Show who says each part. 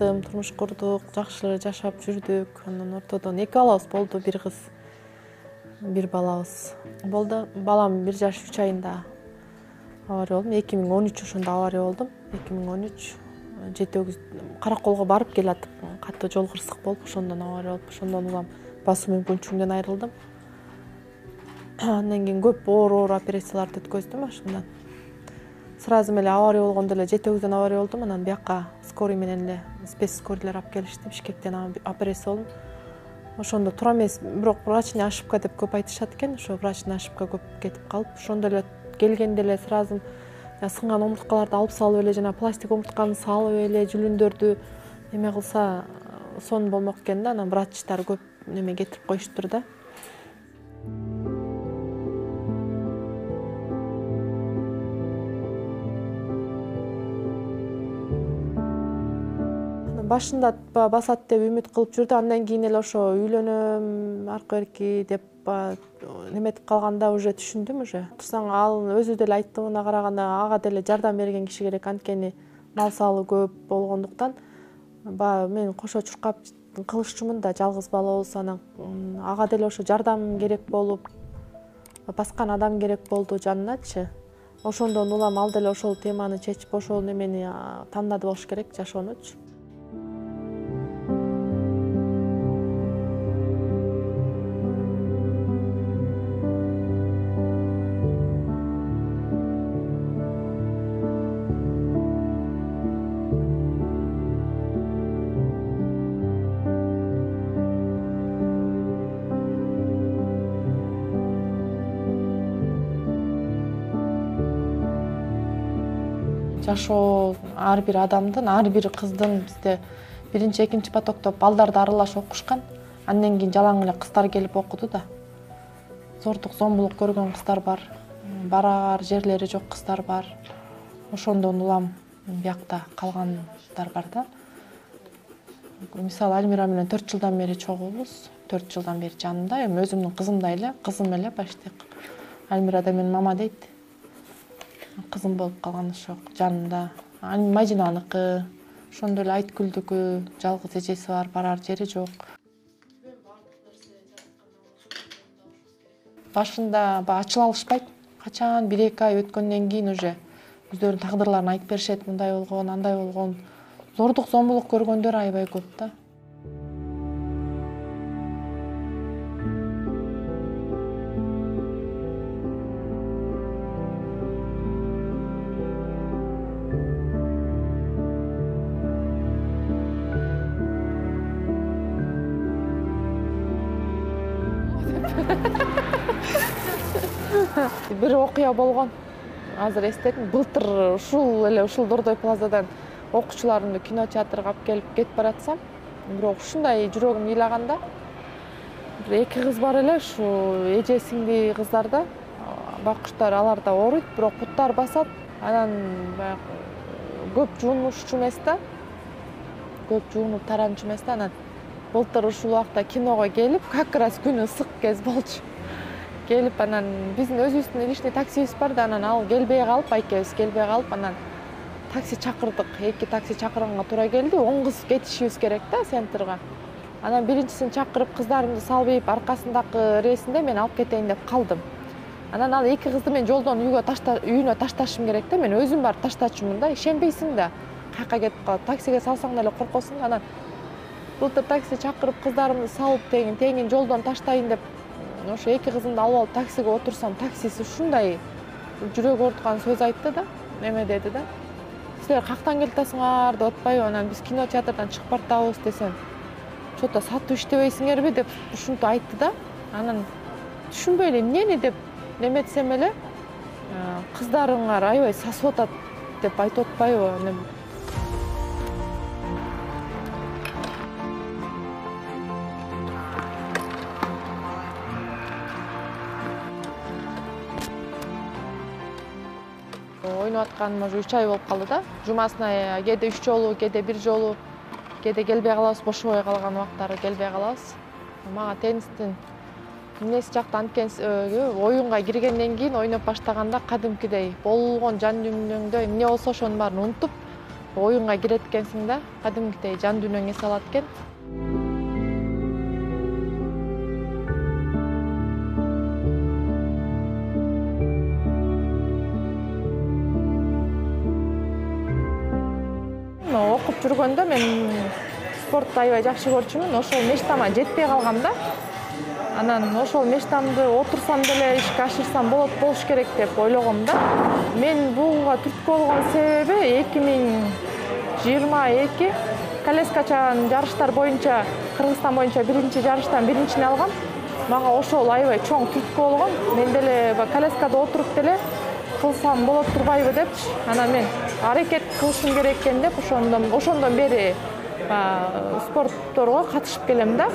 Speaker 1: ажыраттым, турмуш курдук, жакшы жашап жүрдүк. Анан ортодон 2 балабыз болду, бир кыз, бир балабыз болду. Балам 1 жаш 3 айында авария болдум. 2013 ошондо авария болдум. 2013 жети-өгүз Караколго барып келатып, катуу жол кырсык болуп, ошондон авария болуп, ошондон улам басуу мүмкүнчүлүгүнөн айрылдым. Андан кийин көп оор операцияларды өткөздүм ошондон. Сразу эле авария болгондо эле жети-өгүздөн авария болдум. Анан бияка скорый менен эле спецскорийлер алып келишти. Бишкектен операция болдум. Ошондо туура эмес, бирок врачная ошибка деп көп айтышат экен. Ошо врачная ошибка көп кетип калып, ошондо эле келгенде эле сразу сынган омурткаларды алып салып эле, жана пластик омуртканы салып эле, жүлүндөрдү эме кылса сон болмок экен да. Анан врачтар көп неме кетирип коюштур да. Башында басат деп үмүт кылып жүрдү. Андан кийин эле ошо үйлөнөм, аркы берки деп неметип калганда уже түшүндүм уже. Турсаң ал өзү деле айттığına караганда ага деле жардам берген киши керек. Анткени мал салы көп болгондуктан мен кошо чуркап кылышчумун да, жалгыз бала болсо, анан ага деле ошо жардам керек болуп, баскан адам керек болду жаныначы. Ошондон улам ал деле ошол теманы чечип, ошол немени тандады болуш керек, жашоонучу. Жашоо ар бир адамдын, ар бир кыздын бизде 1-2 потокто балдарды аралаш окушкан. Андан кийин жалаң эле кыздар келип окуду да. Зордук, зомбулук көргөн кыздар бар, бараар жерлери жок кыздар бар. Ошондон улам биякта калгандар бар да. Мисалы Альмира менен 4 жылдан бери чогуубуз. 4 жылдан бери жанымда, эми өзүмдүн кызымдай эле, кызым эле почти. Альмира да мен мама дейт. Кызым болуп калган ошо жанында. Мадинаныкы, ошондой эле Айткүлдүкү, жалгыз эжеси бар, барар жери жок. Башында ачыла алышпайт. Качан 1-2 ай өткөндөн кийин уже өздөрүнүн тагдырларын айтып беришет. Мындай болгон, андай болгон. Зордук, зомбулук көргөндөр аябай көп да. Бир окуя болгон. Азыр эстедим. Былтыр ушул Дордой плазадан окуучуларымды кинотеатрга алып келип кетип баратсам, бирок ушундай жүрөгүм ыйлаганда, бир 2 кыз бар эле, ушу эже сиңди кыздар да, баккучтар, алар да ооруйт, бирок буттар басат. Анан баягы көп жуунушчу эмес да. Көп жуунуп таранчу эмес да. Анан былтыр ушул убакта киного келип, как раз күнү ысык кез болчу. Келип, анан биздин өзүбүздүн личный таксибиз бар да, анан ал келбей калып, айкебиз келбей калып, анан такси чакырдык. 2 такси чакырганга туура келди. 10 кыз кетишибиз керек да центрга. Анан биринчисин чакырып, кыздарымды салбайып, аркасындагы рейсинде мен алып кетейин деп калдым. Анан ал 2 кызды мен жолдон үйүнө ташташым керек да. Мен өзүм барып таштачумун да. Ишенбейсиң да. Каяка кетип калат. Таксиге салсаң деле коркосуң. Анан былтыр такси чакырып, кыздарымды салып тегин жолдон таштайын деп ошо 2 кызымды алып алып таксиге отурсам, таксиси ушундай жүрөк ооруткан сөз айтты да. Неме деди да. Силер кактан келатасыңар деп атпайбы? Анан биз кинотеатрдан чыгып бартабыз десем, что-то сатып иштебейсиңерби деп ушинтип айтты да. Анан түшүнбөй эле эмнени деп неметсем эле, кыздарыңар аябай сасып атат деп айтып атпайбы? Ойноп атканыма уже 3 ай болуп калды да. Жумасына кээде 3 жолу, кээде 1 жолу, кээде келбей калабыз, бошобой калган убактары келбей калабыз. Мага теннистин эмнеси жакты, анткени оюнга киргенден кийин ойноп баштаганда кадимкидей болгон жан дүйнөңдө эмне болсо ошонун баарын унутуп, оюнга кирет экенсиң да, кадимкидей жан дүйнөң эс алат экен. Окуп жүргөндө мен спортду аябай жакшы көрчүмүн. Ошол мечтама жетпей калгам да. Анан ошол мечтамды отурсам деле ишке ашырсам болуш керек деп ойлогом да. Мен буга түрткү болгон себеби 2022 коляскачан жарыштар боюнча Кыргызстан боюнча биринчи жарыштан биринчини алгам. Мага ошол аябай чоң түрткү болгон. Мен деле коляскада отуруп деле кылсам болот турбайбы депчи. Анан мен аракет кылышым керек экен деп ошондон бери спортторго катышып келем да.